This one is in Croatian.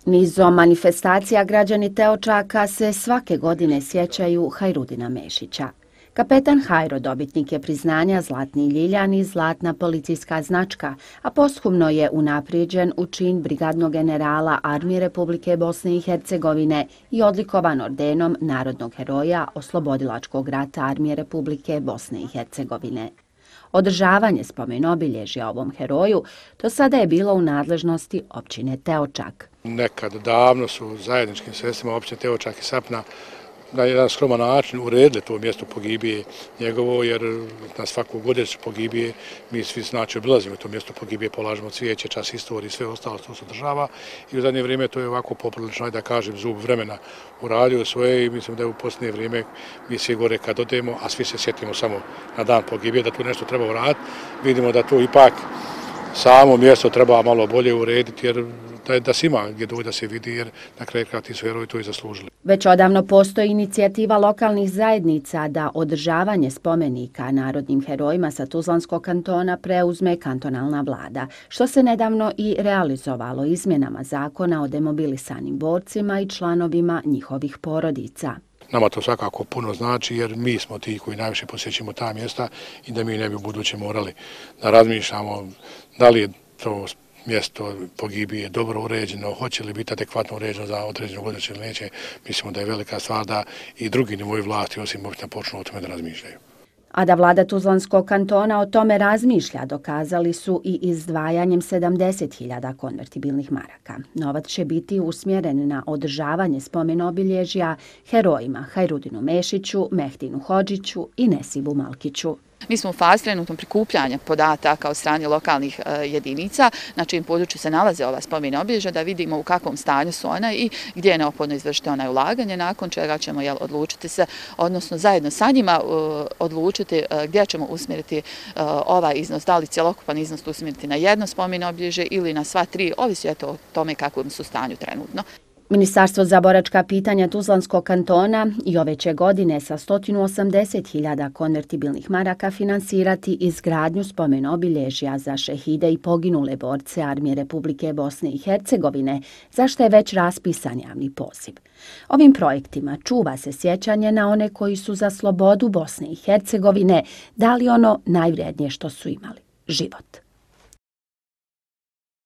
Nizom manifestacija građani Teočaka se svake godine sjećaju Hajrudina Mešića. Kapetan Hajro dobitnik je priznanja Zlatni Ljiljan i Zlatna policijska značka, a posthumno je unaprijeđen u čin brigadnog generala Armije Republike Bosne i Hercegovine i odlikovan ordenom Narodnog heroja Oslobodilačkog rata Armije Republike Bosne i Hercegovine. Održavanje spomen-obilježja ovom heroju do sada je bilo u nadležnosti općine Teočak. Nekad davno su zajedničkim sredstvima općine Teočak i Sapna na jedan skroman način uredili to mjesto pogibije njegovo, jer na svaku godišnju pogibije mi svi znači obilazimo to mjesto pogibije, polažemo cvijeće, čas istorije i sve ostalo što se održava. I u zadnje vrijeme to je ovako poprilično, da kažem, zub vremena uradio svoje i mislim da je u posljednje vrijeme mi svi gore kad odemo, a svi se sjetimo samo na dan pogibije da tu nešto treba uraditi. Vidimo da to ipak samo mjesto treba malo bolje urediti, jer da se ima gdje doći da se vidi, jer na kraju kraja ti su heroji to i zaslužili. Već odavno postoji inicijativa lokalnih zajednica da održavanje spomenika narodnim herojima sa Tuzlanskog kantona preuzme kantonalna vlada, što se nedavno i realizovalo izmjenama zakona o demobilisanim borcima i članovima njihovih porodica. Nama to svakako puno znači, jer mi smo ti koji najviše posjećimo ta mjesta i da mi ne bi u buduće morali da razmišljamo da li je to mjesto pogibije dobro uređeno, hoće li biti adekvatno uređeno za određenu godišnju ili neće. Mislimo da je velika stvar da i drugi nivoji vlasti osim općina počnu o tome da razmišljaju. A da vlada Tuzlanskog kantona o tome razmišlja, dokazali su i izdvajanjem 70.000 konvertibilnih maraka. Novac će biti usmjeren na održavanje spomen-obilježja herojima Hajrudinu Mešiću, Mehdinu Hodžiću i Nesibu Malkiću. Mi smo u fazi trenutno prikupljanja podataka od strane lokalnih jedinica na čijim području se nalaze ova spomen-obilježja, da vidimo u kakvom stanju su ona i gdje je neophodno izvršiti ona ulaganje, nakon čega ćemo odlučiti se, odnosno zajedno sa njima odlučiti gdje ćemo usmjeriti ovaj iznos, da li cjelokupan iznos usmjeriti na jedno spomen-obilježje ili na sva tri, ovisi o tome kakvom su stanju trenutno. Ministarstvo za boračka pitanja Tuzlanskog kantona i ove će godine sa 180.000 konvertibilnih maraka finansirati izgradnju spomen-obilježja za šehide i poginule borce Armije Republike Bosne i Hercegovine, za što je već raspisan javni poziv. Ovim projektima čuva se sjećanje na one koji su za slobodu Bosne i Hercegovine dali ono najvrijednije što su imali – život.